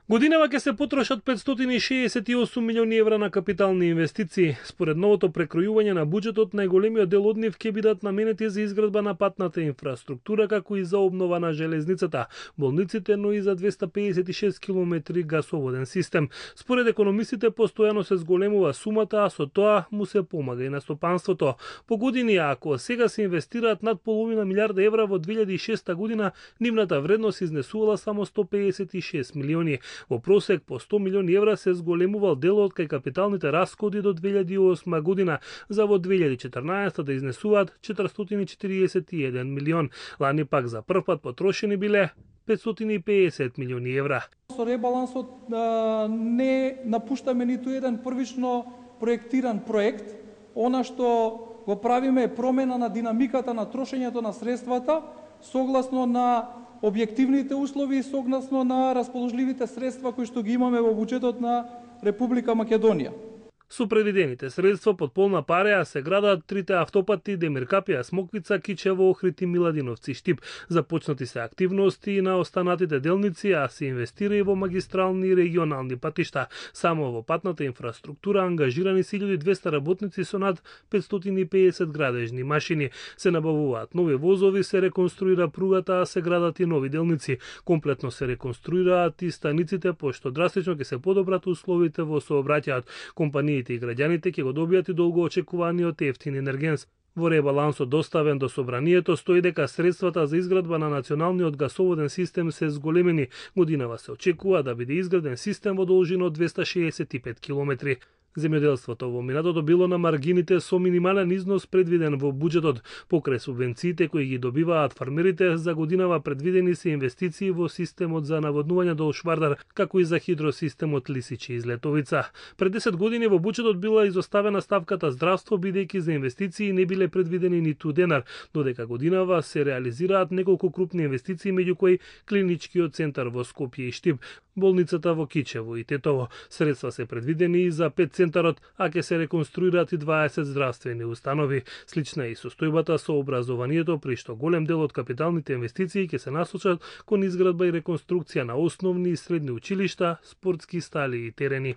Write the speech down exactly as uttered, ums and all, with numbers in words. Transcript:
Годинава ќе се потрошат петстотини и шеесет и осум милиони евра на капитални инвестиции. Според новото прекројување на буџетот, најголемиот дел од нив ќе бидат наменети за изградба на патната инфраструктура, како и за обнова на железницата, болниците, но и за двеста пеесет и шест километри гасоводен систем. Според економистите, постојано се зголемува сумата, а со тоа му се помага и на стопанството. По години, ако сега се инвестираат над половина милиарда евра во две илјади и шеста година, нивната вредност изнесувала само сто пеесет и шест милиони. Во просек по сто милиони евра се зголемувал делот кај капиталните расходи до две илјади и осма година, за во две илјади и четрнаесета да изнесуваат четиристотини и четириесет и еден милион. Лани пак за прв пат потрошени биле петстотини и пеесет милиони евра. Со ребалансот а, не напуштаме ниту еден првично проектиран проект. Она што го правиме е промена на динамиката на трошењето на средствата согласно на објективните услови и согласно на расположливите средства кои што ги имаме во буџетот на Република Македонија. Со предвидените средства под полна пареа се градат трите автопати Демиркапија, Смоквица, Кичево, Охрид и Миладиновци, Штип. Започнати се активности на останатите делници, а се инвестира и во магистрални и регионални патишта. Само во патната инфраструктура ангажирани се илјада и двесте работници со над петстотини и пеесет градежни машини. Се набавуваат нови возови, се реконструира пругата, а се градат и нови делници. Комплетно се реконструираат и станиците, пошто драстично ќе се подобрат условите во сообраќајот. Компании и граѓаните ќе го добијат и долго очекуваниот ефтин енергенс. Во ребалансот доставен до собранието стои дека средствата за изградба на националниот гасоводен систем се зголемени. Годинава се очекува да биде изграден систем во должина од двеста шеесет и пет километри. Земјоделството во минатото било на маргините со минимален износ предвиден во буџетот. Покрај субвенциите кои ги добиваат фармерите, за годинава предвидени се инвестиции во системот за наводнување до Швардар, како и за хидросистемот Лисичи и Злетовица. Пред десет години во буџетот била изоставена ставката здравство, бидејќи за инвестиции не биле предвидени ниту денар, додека годинава се реализираат неколку крупни инвестиции, меѓу кои клиничкиот центар во Скопје и Штип, болницата во Кичево и Тетово. Средства се предвидени и за пет центарот, а ќе се реконструираат и дваесет здравствени установи. Слична е и состојбата со образованието, при што голем дел од капиталните инвестиции ќе се насочат кон изградба и реконструкција на основни и средни училишта, спортски стали и терени.